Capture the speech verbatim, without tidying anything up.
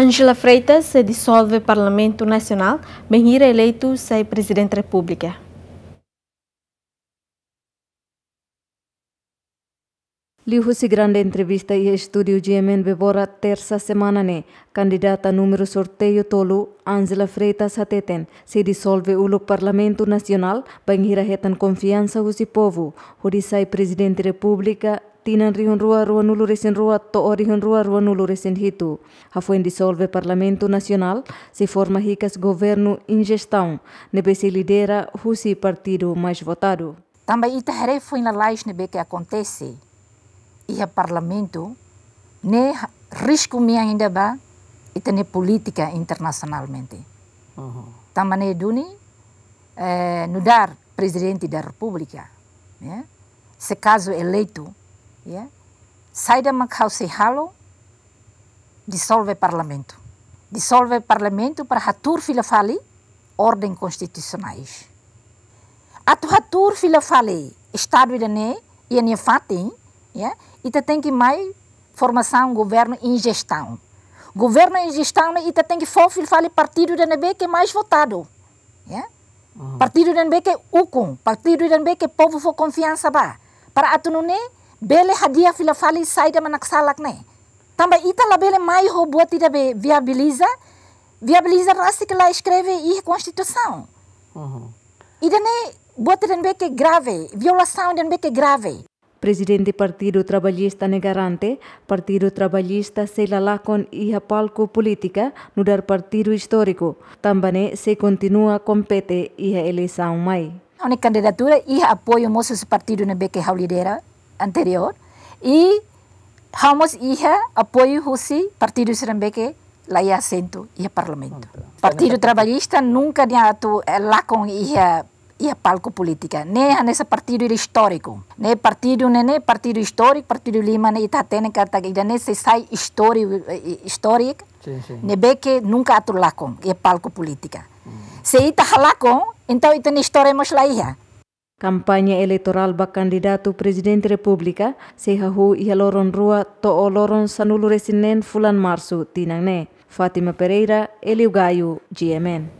Angela Freitas sei disolve Parlamentu Nasionál bainhira eleitu sai Prezidente Repúblika. Liuhusi grande entrevista iha estúdiu G M N Bebora, tersa semana ne'e, kandidata númeru sorteiu tolu, Angela Freitas hateten, sei disolve uluk Parlamentu Nasionál, bainhira hetan konfiansa husi povu, hodi sai Prezidente Repúblika, tinan rihun rua ruanulu resin rua to'o rihun rua ruanulu resin hitu. Hafoin disolve Parlamentu Nasionál, sei forma hikas governu injestaun, ne'ebé sei lidera husi partidu mais votadu. Tanba ita haree foin lalais ne'ebé ke akontese iha Parlamentu, ne'e ha-, risku mean ida ba ita-nia polítika internasionalmente. Uhum. Tanba ne'e duni, eh, nu'udar Prezidente da Repúblika, ya, se kazu eleitu, ya, saida mak ha'u sei halo, disolve Parlamentu. Disolve Parlamentu para hatuur fila fali orden konstitusionais. Atu hatuur fila fali Estadu ida-ne'e iha nia fatin, ya, ita tenke mai formasaun governu injestaun. Governu injestaun ne'e ita tenke fó fila fali partidu ida ne'ebé ke mais votadu, ya. Uhum. Partidu ida ne'ebé ke ukun, partidu ida ne'ebé ke povu fó konfiansa ba. Para atu nune'e bele hadi'a fila fali saida mak naksalak ne'e. Tanba ita labele mai ho buat ida be viabiliza, viabiliza rasik la eskreve iha Konstituisaun. Uhum. Ida-ne'e buat ida ne'ebé ke grave, violasaun ida ne'ebé ke grave. Prezidente Partidu Trabalhista ne'e garante, Partidu Trabalhista sei la lakon iha palku polítika, nu'udar partidu istóriku, tanba ne'e sei kontinua kompete iha eleisaun mai. Ha'u-nia kandidatura iha apoiu mós husi partidu ne'ebé ke ha'u lidera anteriór, i ha'u mós iha apoiu husi partidu sira ne'ebé ke la iha asentu iha Parlamentu. Oke. Partidu Trabalhista nunka nia atu, eh, lakon iha, iha palku polítika. Ne'e hanesan partidu ida istóriku. Ne'e partidu ne'e, ne'e partidu istóriku, partidu lima ne'e ita hatene katak ida-ne'e sei sai istóriku, eh, istóriku. Sin, sin. Ne'ebé ke nunka atu lakon iha palku polítika. Hmm. Se ita halakon, entaun ita-nia istória mós la iha. Kampaña eleitorál ba kandidatu Prezidente Repúblika sei hahú iha loron rua to'o loron sanulu resin neen fulan Marsu tinan ne'e. Fátima Pereira, Hélio Gaio, G M N.